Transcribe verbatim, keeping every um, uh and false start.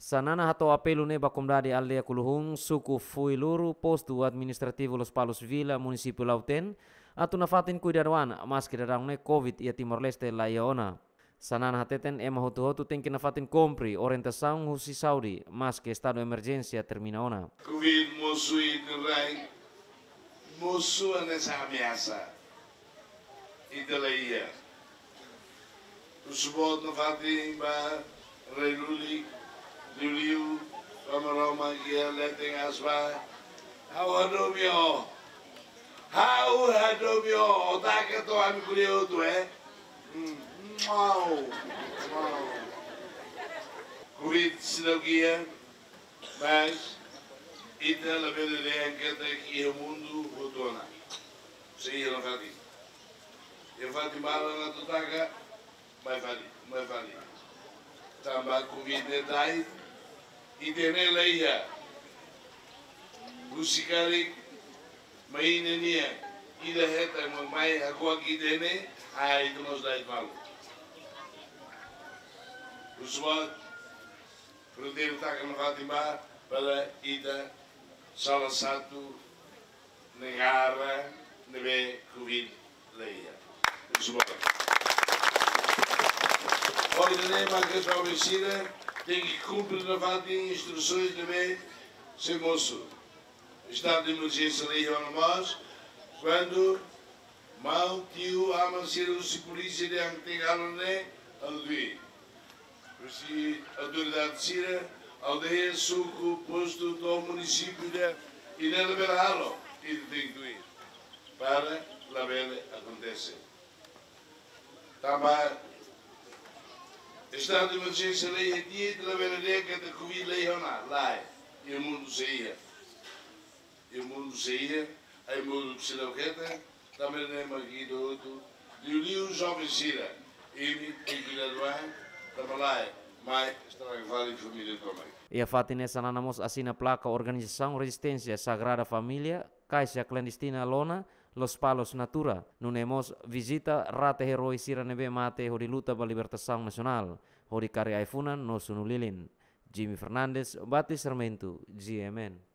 Xanana hato'o apelu ne'e ba komunidade aldeia Kuluhun, suku Fuiluru, postu administrativu Lospalos Vila, munisípiu Lautém, atu nafatin kuidadu an, maski daudaun ne'e covid iha Timor-Leste la iha ona. Xanana hateten ema hotu-hotu tenke nafatin kumpre orientasaun husi saúde, maski estadu emerjénsia termina ona. Covid mosu ita-nia rai, mosu hanesan ameasa. Ita la iha. Husu boot nafatin ba rai lulik, liuliu ba maromak iha leten aas ba. Ha'u hadomi ó. Ha'u hadomi ó. Ó taka to'o ami ko'alia hotu, eh? Hmm. Mau. Mau. Covid seidauk iha, mas ita labele dehan katak iha mundu hotu ona. Sei iha nafatin. Iha fatin balu ona atu taka, mai fali, mai fali. Tanba covid ne'e da'et, ita-nia la iha. Husi karik, mai ne'e nian, ida hetan, mai hakuak ita-nia, ai ita mós da'et malu. Husu boot, fronteira taka nafatin ba, para ita salah satu negara ne'ebé covid la iha. Husu boot. Hodi nune'e mak joven sira tenke kumpre nafatin instrusaun ne'ebé sei mosu. Estadu de emerjénsia la iha ona mós, kuandu maun, tiu, aman sira husi polísia dehan tenke halo ne'e, halo tuir. Husi autoridade sira, aldeia, suku, postu, to'o munisípiu dehan, ida-ne'e labele halo, ita tenke tuir. Para labele akontese. Tanba estadu de emerjénsia la iha, ita labele dehan katak covid la iha ona, lae, iha mundu sei iha. Iha mundu sei iha, ai mundu sei la keta, tanba ne'e mak ita hotu, liuliu joven sira, imi tenke kuidadu an, tanba lae, mai estraga fali família tomak. Iha fatin ne'e Xanana mós asina plaka organizasaun rezisténsia Sagrada Família, Kaixa Klandestina Lona, Lospalos Natura, nune'e mós vizita rate eroi sira ne'ebé mate hodi luta ba libertasaun nasionál, hodi kaer ai-funan no sunu lilin. Jimmy Fernandes, Batis Sarmento, G M N.